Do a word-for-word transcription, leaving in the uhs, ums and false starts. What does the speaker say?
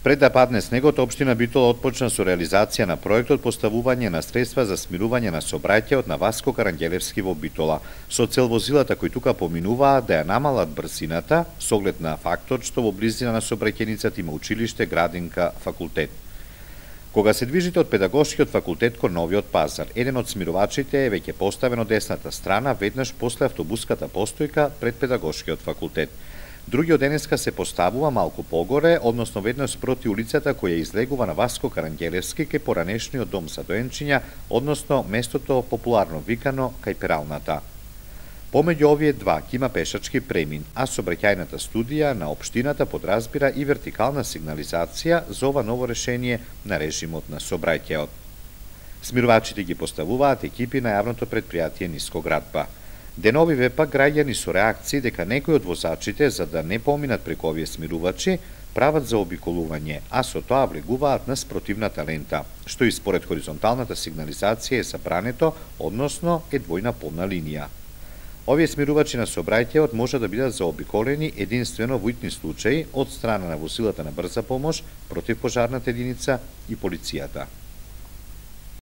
Пред да падне снегот, општина Битола отпочна со реализација на проектот поставување на средства за смирување на сообраќајот на Васко Карангелевски во Битола, со цел возилата кои тука поминуваат да ја намалат брзината, со оглед на фактот што во близина на сообраќајницата има училиште, градинка, факултет. Кога се движите од педагошкиот факултет кон Новиот пазар, еден од смирувачите е веќе поставен од десната страна, веднаш после автобуската постојка пред педагошкиот факултет. Другиот денеска се поставува малку погоре, односно веднаш спроти улицата која излегува на Васко Карангелевски кај поранешниот дом за доенчиња, односно местото популарно викано кај пералната. Помеѓу овие два ќе има пешачки премин, а сообраќајната студија на општината подразбира и вертикална сигнализација за ова ново решение на режимот на сообраќајот. Смирувачите ги поставуваат екипи на јавното претпријатие Нискоградба. Деновиве пак граѓани со реакции дека некои од возачите, за да не поминат преку овие смирувачи, прават за обиколување, а со тоа влегуваат на спротивната лента, што и според хоризонталната сигнализација е забрането, односно е двојна полна линија. Овие смирувачи на сообраќајот може да бидат заобиколени единствено во итни случаи од страна на возилата на брза помош, противпожарната единица и полицијата.